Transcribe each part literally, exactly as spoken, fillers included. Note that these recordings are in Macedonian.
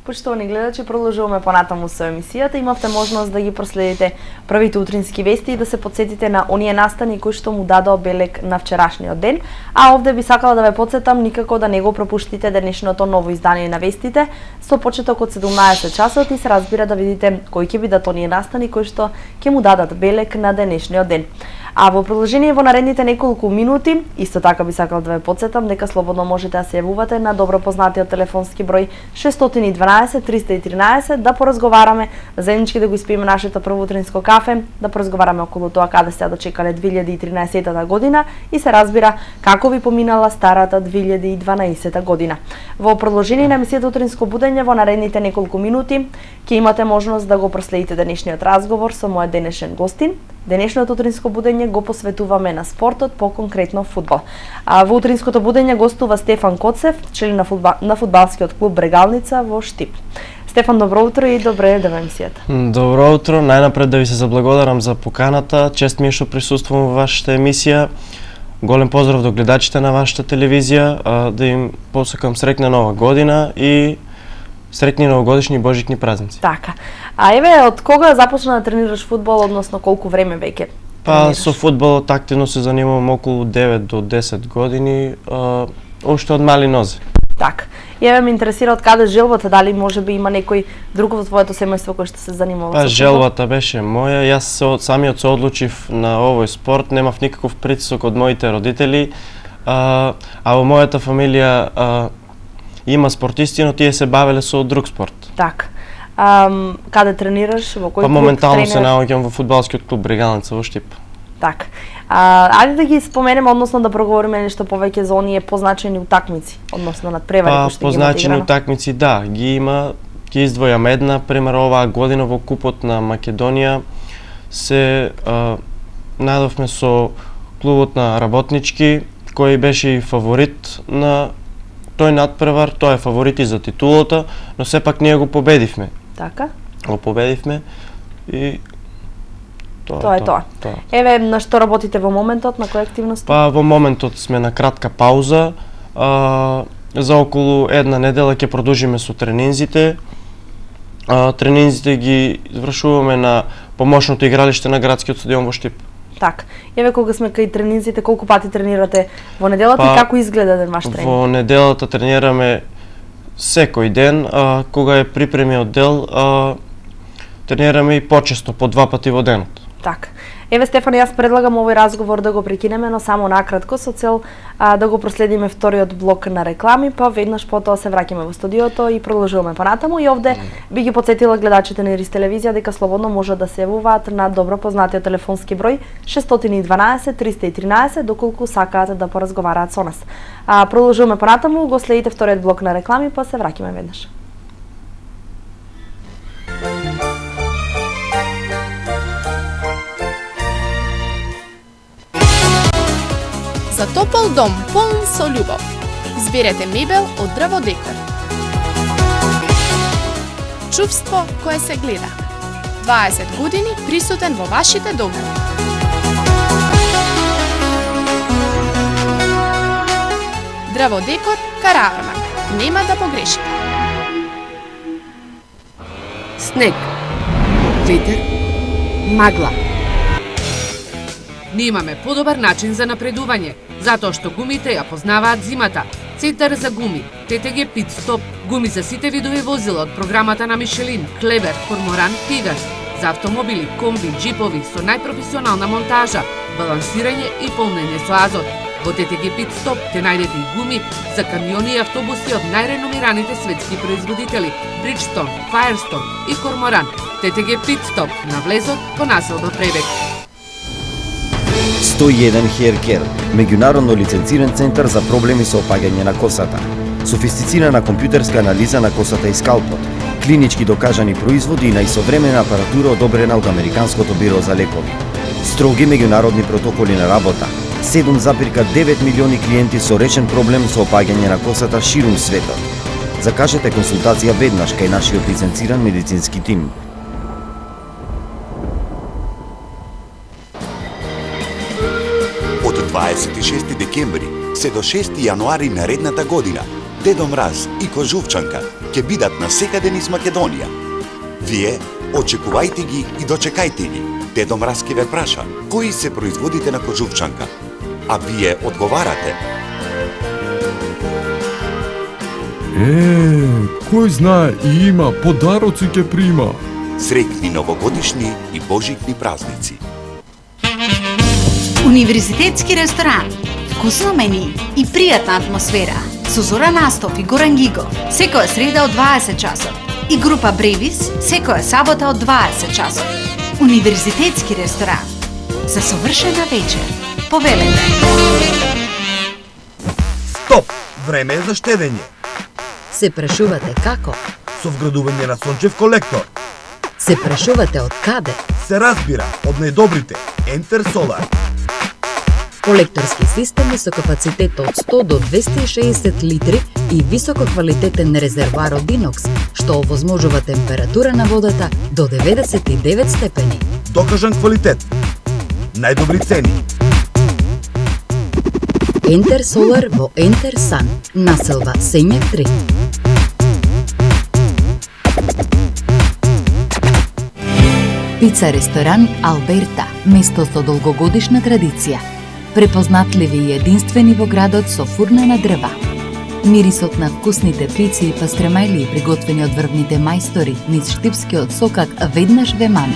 Почитувани гледачи, продолжуваме понатаму со емисијата. Имавте можност да ги проследите првите утрински вести и да се потсетите на оние настани кои што му дадоа белег на вчерашниот ден. А овде би сакала да ве потсетам никако да не го пропуштите денешното ново издание на вестите со почеток од седумнаесет часот и се разбира да видите кои ќе бидат оние настани кои што ќе му дадат белег на денешниот ден. А во продолжение во наредните неколку минути, исто така би сакал да ве потсетам дека слободно можете да се јавувате на добро познатиот телефонски број шест едно два триста и тринаесет да поразговараме, заеднички да го испиеме нашето прво утринско кафе, да поразговараме околу тоа каде сте дочекале две илјади и тринаесета година и се разбира како ви поминала старата две илјади и дванаесета година. Во продолжение на емисијата Утринско будење во наредните неколку минути ќе имате можност да го проследите денешниот разговор со мојот денешен гостин. Денешното утринско будење го посветуваме на спортот, по-конкретно фудбал. А во утринското будење гостува Стефан Коцев, член на, фудбал, на фудбалскиот клуб Брегалница во Штип. Стефан, добро утро и добре ден во емисијата. Добро утро, најнапред да ви се заблагодарам за поканата. Чест ми е што присуствувам во вашата емисија. Голем поздрав до гледачите на вашата телевизија, да им посакам среќна нова година и среќни новогодишни и божични празници. Така. А еве, од кога започна да тренираш фудбал, односно колку време веќе? Па со фудбалот активно се занимавам околу девет до десет години, а, уште од мали нозе. Така. И еве ме интересира од каде желбата, дали можеби има некој друг во твоето семејство кој што се занимава па, со фудбал? Па желбата беше моја, јас се, самиот се одлучив на овој спорт, немав никаков притисок од моите родители, а, а во мојата фамилија а, има спортисти, но тие се бавеле со друг спорт. Така. А, каде тренираш? Во кој па, клуб моментално тренираш? се наоѓам во фудбалскиот клуб Брегалница во Штип. Така. А, ајде да ги споменеме, односно да проговориме нешто повеќе за оние позначени утакмици, односно надпревари па, кои што ги имате позначени играно. утакмици, да, ги има. Ќе издвојам една, пример оваа година во Купот на Македонија се а, најдовме со клубот на Работнички, кој беше и фаворит на тој надпревар, тој е фаворит и за титулата, но сепак ние го победивме. Така? Го победивме и тоа, Тоа е тоа. тоа. Еве, на што работите во моментот, на кои активности? Па во моментот сме на кратка пауза. А, за околу една недела ќе продолжиме со тренинзите. А, тренинзите ги извршуваме на помошното игралиште на градскиот стадион во Штип. Така. Еве, кога сме кај тренинзите, колку пати тренирате во неделата па, и како изгледа ден ваш тренинг? Во неделата тренираме секој ден, а, кога е припремиот дел, а, тренираме и почесто, по два пати во денот. Така. Еве, Стефан, јас предлагам овој разговор да го прекинеме, но само накратко, со цел а, да го проследиме вториот блок на реклами, па веднаш потоа се враќаме во студиото и продолжуваме понатаму. И овде би ги потсетила гледачите на Ирис телевизија дека слободно може да се јавуваат на добро познатиот телефонски број шест едно два триста и тринаесет доколку сакаат да поразговараат со нас. А, продолжуваме понатаму, го следите вториот блок на реклами, па се враќаме веднаш. За топол дом полн со љубов. Изберете мебел од Дрво Декор. Чувство кое се гледа. дваесет години присутен во вашите домови. Дрво Декор Караармак. Нема да погреши. Снег, ветер, магла. Немаме подобар начин за напредување, затоа што гумите ја познаваат зимата. Центар за гуми, Т Т Г Pit Stop, гуми за сите видови возила од програмата на Мишелин, Клевер, Корморан, Пегас, за автомобили, комби, джипови со најпрофесионална монтажа, балансирање и полнење со азот. Во Т Т Г Pit Stop те најдете и гуми за камиони и автобуси од најреномираните светски производители Bridgestone, Firestone и Корморан. Т Т Г Pit Stop на влезот по населба Пребег. сто и еден Hair Care, меѓународно лиценциран центар за проблеми со опаѓање на косата. Софистицирана компјутерска анализа на косата и скалпот, клинички докажани производи и најсовремена апаратура одобрена од Американското биро за лекови. Строги меѓународни протоколи на работа. седум запирка девет милиони клиенти со речен проблем со опаѓање на косата ширум светот. Закажете консултација веднаш кај нашиот лиценциран медицински тим. Од дваесет и шести декември се до шести јануари наредната година Дедо Мраз и Кожувчанка ќе бидат насекаде низ Македонија. Вие очекувајте ги и дочекајте ги. Дедо Мраз ќе ве праша кои се производите на Кожувчанка, а вие одговарате. Е, кој знае и има, подароци ќе прима. Среќни новогодишни и божикни празници. Универзитетски ресторан. Вкусно мени и пријатна атмосфера. Со Зора Настов и Горан Гигов секоја среда од дваесет часот и група Бревис секоја сабота од дваесет часот. Универзитетски ресторан. За совршена вечер. Повелете. Стоп! Време е за штедење. Се прашувате како? Со вградување на сончев колектор. Се прашувате од каде? Се разбира, од најдобрите. Enter Solar. Колекторски системи со капацитет од сто до двесте и шеесет литри и висококвалитетен резервоар од инокс, што овозможува температура на водата до деветдесет и девет степени. Докажан квалитет. Најдобри цени. Enter Solar во Enter Sun, населба Сењак три. Пица ресторан Алберта, место со долгогодишна традиција. Препознатливи и единствени во градот со фурна на дрва. Мирисот на вкусните пици и пастремајли приготвени од врвните мајстори низ штипскиот сокак веднаш ве мами.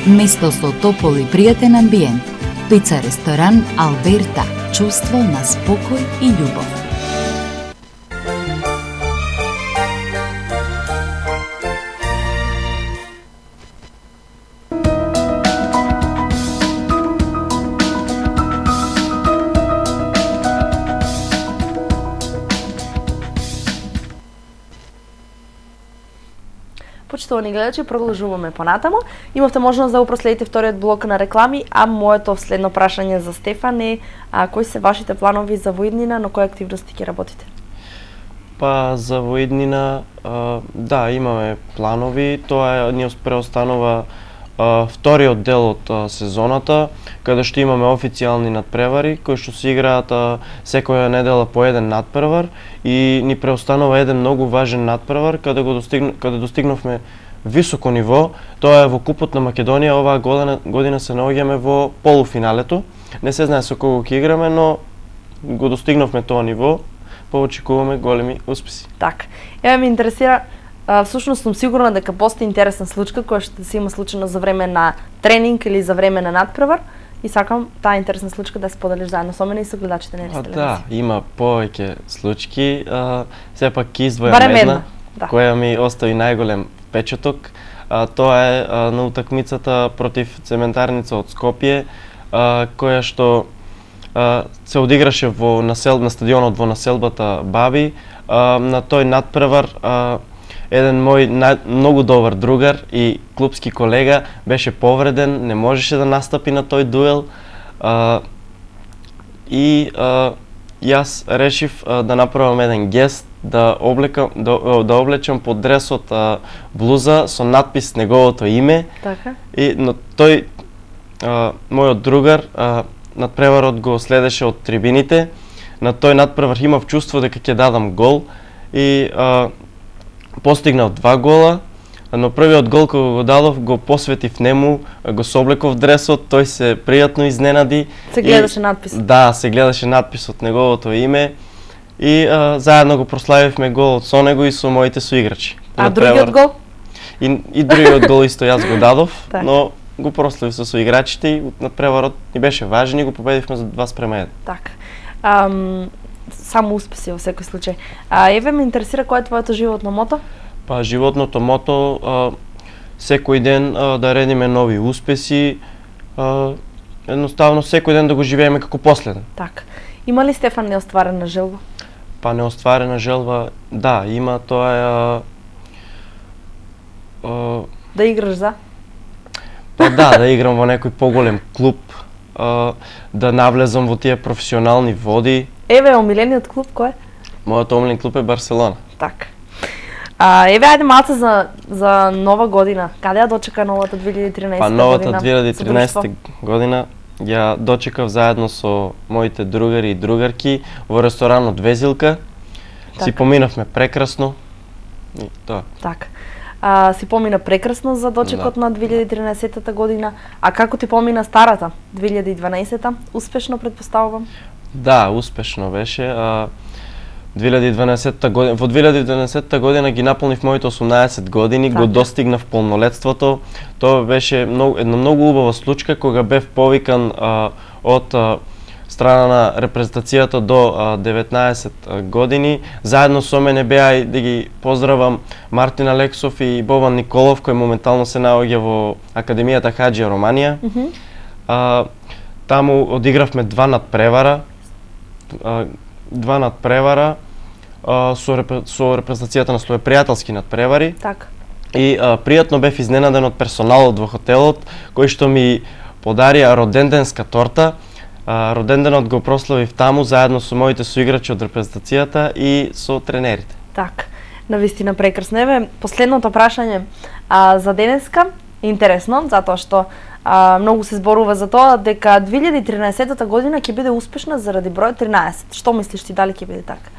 Место со топол и пријатен амбиент. Пица ресторан Алберта. Чувство на спокој и љубов. Почитувани гледачи, продолжуваме понатаму. Имавте можност да го проследите вториот блок на реклами, а моето следно прашање за Стефан е а, кои се вашите планови за воиднина, на кои активности ќе работите? Па за воиднина, а, да, имаме планови. Тоа е, ни преостанува а, вториот дел од а, сезоната, каде што имаме официјални надпревари, кои што се играат а, секоја недела по еден надпревар и ни преостанува еден многу важен надпревар, каде го достигна, каде достигнавме високо ниво. Тоа е во Купот на Македонија. Оваа година, година се наоѓаме во полуфиналето. Не се знае со кого ќе играме, но го достигнавме тоа ниво. Поочекуваме големи успеси. Так. Еве ме интересира, а, всушност сум сигурна дека постои интересна случка која што се има случено за време на тренинг или за време на надпревар и сакам таа интересна случка да споделиш заедно со мене и со гледачите на телевизија. Да, има повеќе случки. А, сепак ќе издвојам Барем една, една, да, која ми остави најголем впечаток. А, тоа е а, на утакмицата против Цементарница од Скопје, а, која што а, се одиграше во насел, на стадионот во населбата Баби. А, на тој надпревар а, еден мој на, многу добар другар и клубски колега беше повреден, не можеше да настапи на тој дуел. А, и а, јас решив а, да направам еден гест, да облекам да, да облечам под дресот а, блуза со надпис неговото име. Така. И но тој а, мојот другар а, надпреварот го следеше од трибините. На тој надпревар имав чувство дека ќе дадам гол и а, постигнав два гола, но првиот гол кога го дадов го посветив нему, го соблеков дресот, тој се пријатно изненади. Се гледаше и, надпис. Да, се гледаше надпис од неговото име и а, заедно го прославивме голот со него и со моите соиграчи. А другиот гол? И, и другиот гол исто јас го дадов, но го прославив со соиграчите и надпреварот ни беше важен и го победивме за два спрема еден. Така. Ам, само успеси во секој случај. А еве ме интересира кој е твоето животно мото? Па животното мото а, секој ден а, да редиме нови успеси, а, едноставно секој ден да го живееме како последен. Така. Има ли Стефан неостварена желба? Па неостварена желба, да, има, тоа е а, а, да играш за? Па да, да играм во некој поголем клуб, а, да навлезам во тие професионални води. Еве, омилениот клуб кој е? Мојот омилен клуб е Барселона. Така. А, еве, ајде малце за, за нова година. Каде ја дочека новата две илјади и тринаесета година? Па новата две илјади и тринаесета година ја дочекав заедно со моите другари и другарки во ресторанот Везилка. така. Си поминавме прекрасно. И тоа. Така. А, си помина прекрасно за дочекот да. на две илјади и тринаесетта година, а како ти помина старата две илјади и дванаесетта? Успешно претпоставувам? Да, успешно беше. А, две илјади и дванаесетта година, во две илјади и дванаесетта година ги наполнив моите осумнаесет години, така. Го достигнав полнолетството. Тоа беше многу, една многу убава случка кога бев повикан а, од а, страна на репрезентацијата до а, деветнаесет години. Заедно со мене беа и да ги поздравам Мартин Алексов и Бобан Николов, кој моментално се наоѓа во Академијата Хаџија Романија. Mm -hmm. а, таму одигравме два надпревара, а, два надпревара а, со, репре, со репрезентацијата на своје пријателски надпревари. Так. И а, пријатно бев изненаден од персоналот во хотелот, кој што ми подарија роденденска торта. Uh, роденденот го прославив таму заедно со моите соиграчи од репрезентацијата и со тренерите. Так, навистина прекрасно. Еве, последното прашање а, за денеска, интересно, затоа што а, многу се зборува за тоа дека две илјади и тринаесетта година ќе биде успешна заради број тринаесет. Што мислиш ти, дали ќе биде така?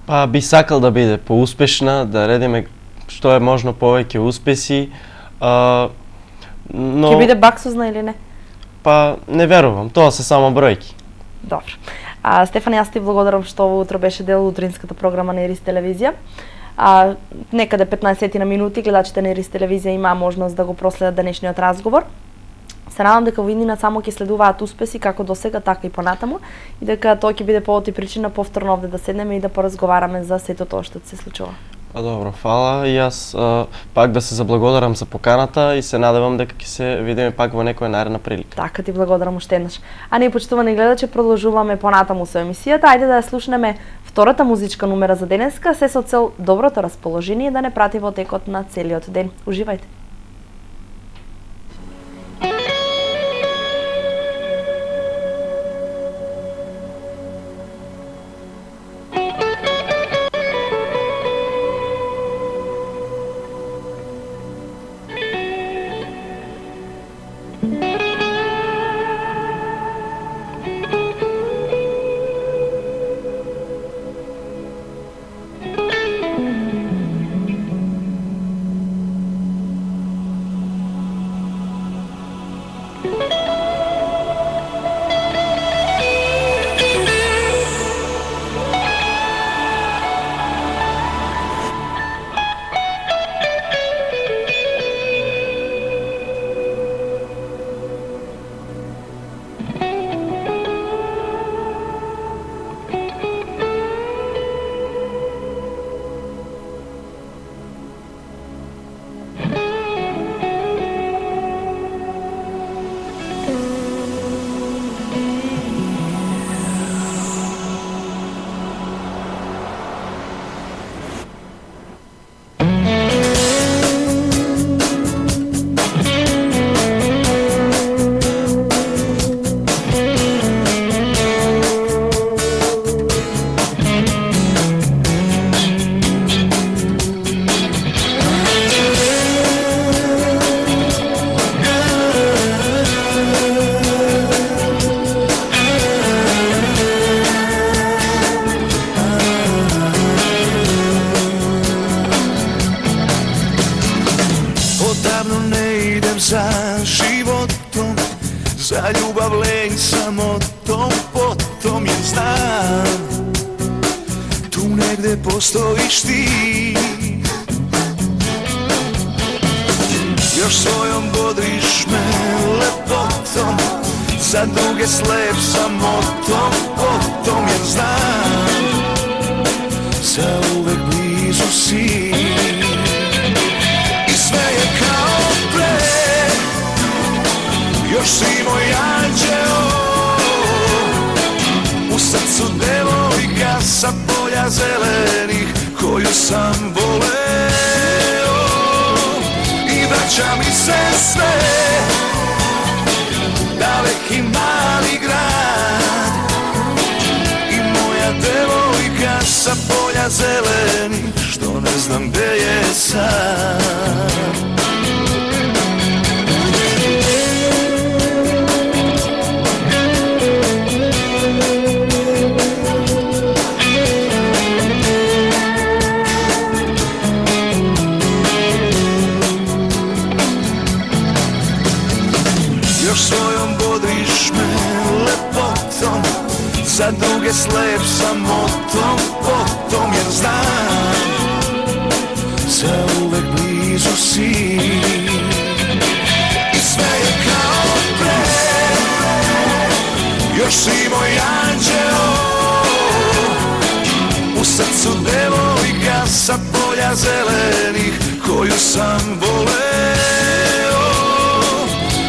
Па би сакал да биде поуспешна, да редиме што е можно повеќе успеси. А, но... Ќе биде баксузна или не? Па не верувам, тоа се само бројки. Добро. А, Стефан, јас ти благодарам што во утро беше дел утринската програма на Ирис телевизија. А, некаде петнаесет на минути гледачите на Ирис телевизија имаа можност да го проследат денешниот разговор. Се надам дека во иднина само ќе следуваат успеси како досега, така и понатаму, и дека тоа ќе биде повод и причина повторно овде да седнеме и да поразговараме за сето тоа што се случува. А, добро, фала. И јас а, пак да се заблагодарам за поканата и се надевам дека ќе се видиме пак во некоја наредна прилика. Така, ти благодарам уште еднаш. А ние, почитувани гледачи, продолжуваме понатаму со емисијата. Ајде да ја слушнеме втората музичка номера за денеска, се со цел доброто расположение да не прати во текот на целиот ден. Уживајте. za ljubav lenj samotom, potom je znam, tu negde postojiš ti. Još svojom bodriš me lepotom, za druge slep samotom, potom jer znam, za uvek blizu si. I sve je kao pre, još si moj anđeo, u srcu devojka sa polja zelenih koju sam voleo. I vraća mi se sve, daleki mali grad, i moja devojka sa polja zelenih što ne znam gde je sad. слеп самотом, потом jer znam zauvek blizu si i sve je kao pre, još si moj anđeo, u srcu devojka sa polja zelenih koju sam voleo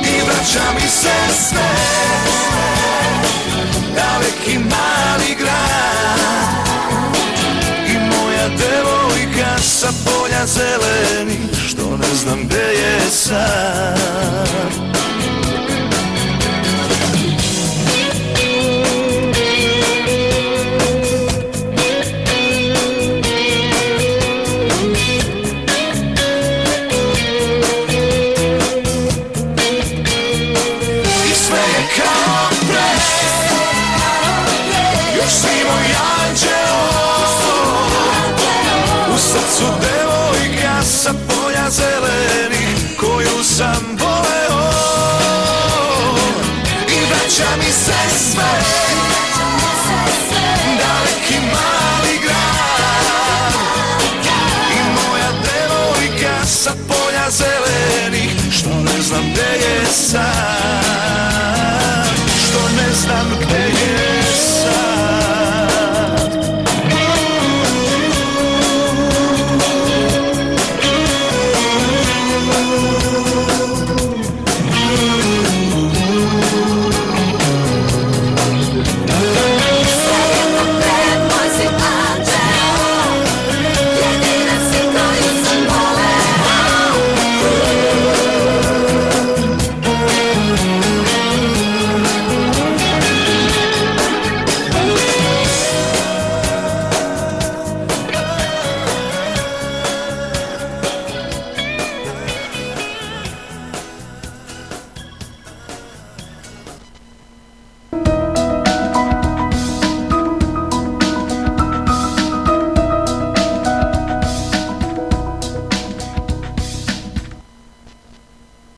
i vraća mi se sve, daleki mali grad i moja devojka sa polja zelenih što ne znam gde je sad. Još si moj anđeo, u srcu